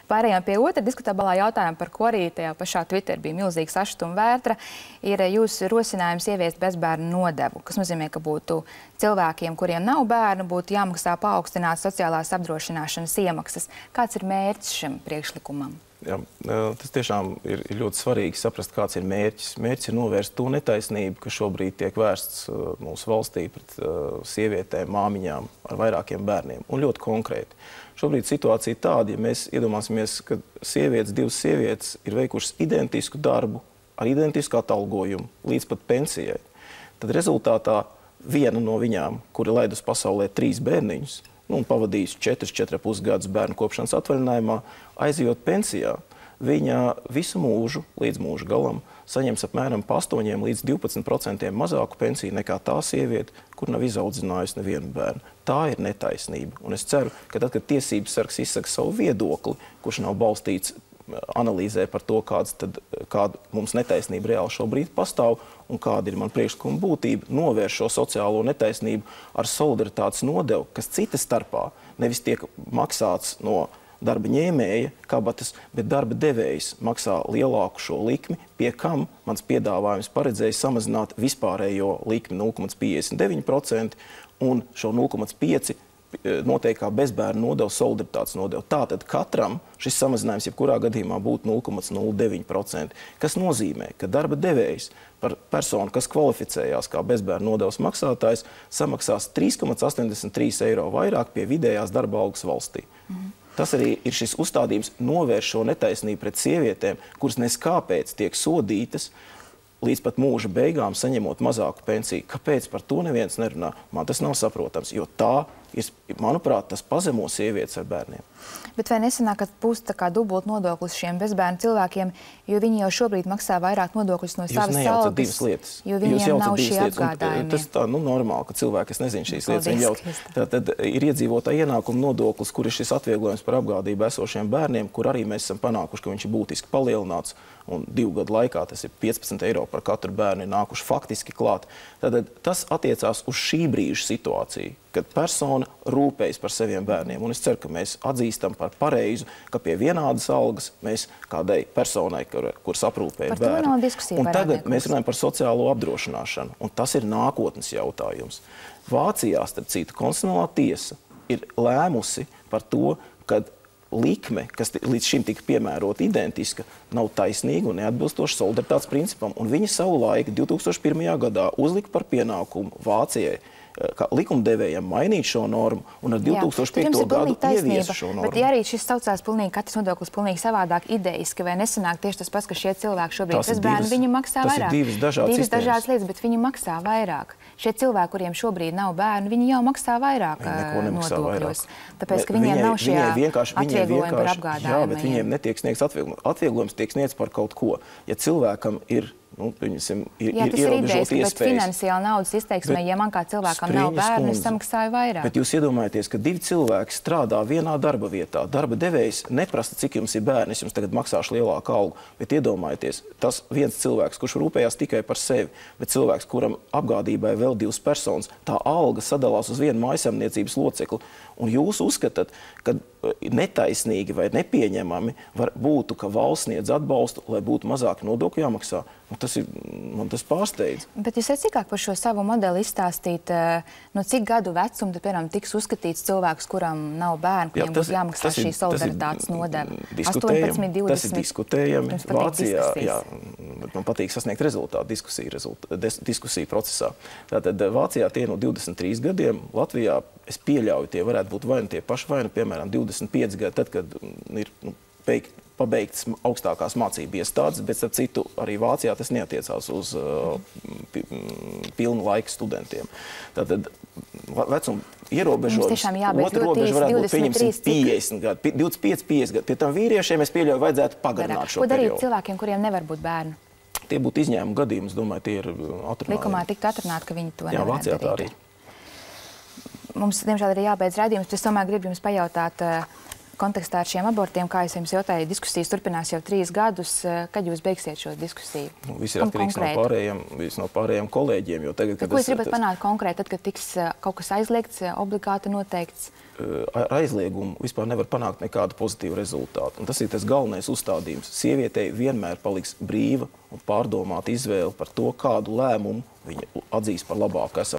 Pārējām pie otra diskutablā jautājuma, par ko arī tajā pašā Twitter bija milzīga sašutuma vētra, ir jūsu rosinājums ieviest bezbērnu nodevu, kas nozīmē, ka būtu cilvēkiem, kuriem nav bērnu, būtu jāmaksā paaugstināts sociālās apdrošināšanas iemaksas. Kāds ir mērķis šim priekšlikumam? Jā, tas tiešām ir ļoti svarīgi saprast, kāds ir mērķis. Mērķis ir novērst to netaisnību, kas šobrīd tiek vērsts mūsu valstī pret sievietēm, māmiņām ar vairākiem bērniem. Un ļoti konkrēti. Šobrīd situācija tāda, ja mēs iedomāsimies, ka divas sievietes ir veikušas identisku darbu ar identisku atalgojumu līdz pat pensijai, tad rezultātā viena no viņām, kura laid uz pasaulē 3 bērniņus, un pavadījusi 4,5 gadus bērnu kopšanas atvaļinājumā, aizejot pensijā, viņa visu mūžu, līdz mūža galam, saņems apmēram pa 8 līdz 12% mazāku pensiju nekā tā sieviete, kur nav izaudzinājusi nevienu bērnu. Tā ir netaisnība. Un es ceru, ka tad, kad tiesības sargs izsaka savu viedokli, kurš nav balstīts analīzē par to, kāda mums netaisnība reāli šobrīd pastāv un kāda ir man priekšlikuma būtība, novērš šo sociālo netaisnību ar solidaritātes nodevu, kas cita starpā nevis tiek maksāts no darba ņēmēja kabatas, bet darba devējs maksā lielāku šo likmi, pie kam mans piedāvājums paredzēja samazināt vispārējo likmi 0,59% un šo 0,5% noteikti kā bezbērnu nodevu, solidaritātes nodevu. Tātad katram šis samazinājums jebkurā gadījumā būtu 0,09%, kas nozīmē, ka darba devējs par personu, kas kvalificējās kā bezbērnu nodevas maksātājs, samaksās 3,83 eiro vairāk pie vidējās darba algas valstī. Tas arī ir šis uzstādījums novērš šo netaisnību pret sievietēm, kuras neskāpēc tiek sodītas līdz pat mūža beigām saņemot mazāku pensiju. Kāpēc par to neviens nerunā? Man tas nav saprotams, jo tā ir, manuprāt, tas pazemo sievietes ar bērniem. Bet vai nesanāk, ka būs tā kā dubult nodoklis šiem bezbērnu cilvēkiem, jo viņi jau šobrīd maksā vairāk nodokļus no savas algas, divas lietas. Jo viņiem nav šī apgādājumi? Tas tā, normāli, ka cilvēki, kas nezina šīs lietas, tad ir iedzīvotāja ienākuma nodoklis, kur ir šis atvieglojums par apgādību esošiem bērniem, kur arī mēs esam panākuši, ka viņš ir būtiski palielināts, un 2 gadu laikā tas ir 15 eiro par katru bērnu ir nākuši faktiski klāt. Tad tas attiecās uz šī brīža situāciju, kad persona rūpējas par saviem bērniem. Un es ceru, ka mēs atzīstam par pareizu, ka pie vienādas algas mēs kādai personai, kuras aprūpēja bērnu. Un tagad mēs runājam par sociālo apdrošināšanu. Un tas ir nākotnes jautājums. Vācijā, starp citu, konstitucionālā tiesa ir lēmusi par to, ka likme, kas līdz šim tika piemērota identiska, nav taisnīga un neatbilstoša solidaritātes principam. Un viņi savu laiku 2001. gadā uzlika par pienākumu Vācijai, kā likumdevējiem mainīt šo normu un ar 2005. gadu ieviesa šo normu. Bet ja arī šis saucās katrs nodoklis pilnīgi savādāk ideiski, vai nesanāk tieši tas pats, ka šie cilvēki šobrīd bezbērni, viņi maksā vairāk? Tas ir divas dažādas lietas, bet viņi maksā vairāk. Šie cilvēki, kuriem šobrīd nav bērnu, viņi jau maksā vairāk nodokļos. Tāpēc, ka viņiem nav šie atvieglojumi par apgādājumiem. Jā, bet viņiem netiek sniegts atvieglojums. Atvieglojums tiek sniegts par kaut ko. Ja cilvēkam ir tas ir idejas, bet finansiāli naudas izteiksmē, ja man kā cilvēkam nav bērnu, es samaksāju vairāk. Bet jūs iedomājaties, ka 2 cilvēki strādā vienā darba vietā. Darba devējs neprasa, cik jums ir bērni, es jums tagad maksāšu lielāku algu. Bet iedomājieties, tas viens cilvēks, kurš rūpējās tikai par sevi, bet cilvēks, kuram apgādībai vēl 2 personas, tā alga sadalās uz vienu mājasemniecības locekli. Un jūs uzskatāt, ka netaisnīgi vai nepieņemami būtu, ka valsts sniedz atbalstu, lai būtu mazāk nodokļu jāmaksā. Man tas pārsteidz. Bet jūs varat cikāk par šo savu modeli izstāstīt, no cik gadu vecuma, piemēram, tiks uzskatīts cilvēks, kuram nav bērnu, kuriem būtu jāmaksā šī solidaritātes nodeva? 18, 20. Tas ir diskutējami. Vācijā, jā, man patīk sasniegt rezultātu diskusiju procesā. Tātad Vācijā tie no 23 gadiem, Latvijā, es pieļauju, tie varētu būt vai nu tie paši, vai nu, piemēram, 25 gadi, tad, kad ir pabeigts augstākās mācību iestādes, bet, starp citu, arī Vācijā tas neatiecās uz pilnu laiku studentiem. Tātad vecuma ierobežojums, otra robeža varētu būt, pieņemsim, 50 gadi, 25-50 gadi. Pie tam vīriešiem, es pieļauju, vajadzētu pagarināt šo periodu. Ko darīt cilvēkiem, kuriem nevar būt bērnu? Tie būtu izņēmuma gadījumi, es domāju, tie ir atrunājumi. Likumā tiktu atrunāt, ka viņi to nevarētu darīt. Jā, Vācijā tā arī. Mums, diemžēl, ir jābeidz raidījums, bet es tomēr gribu jums pajautāt, kontekstā ar šiem abortiem, kā es jums jautāju, diskusijas turpinās jau 3 gadus. Kad jūs beigsiet šo diskusiju? Viss ir atkarīgs no pārējiem kolēģiem. Jo tagad, ko jūs gribat panākt konkrēti, tad, kad tiks kaut kas aizliegts, obligāti noteikts? Ar aizliegumu vispār nevar panākt nekādu pozitīvu rezultātu. Un tas ir tas galvenais uzstādījums. Sievietei vienmēr paliks brīva un pārdomāta izvēle par to, kādu lēmumu viņa atzīs par labāku esam.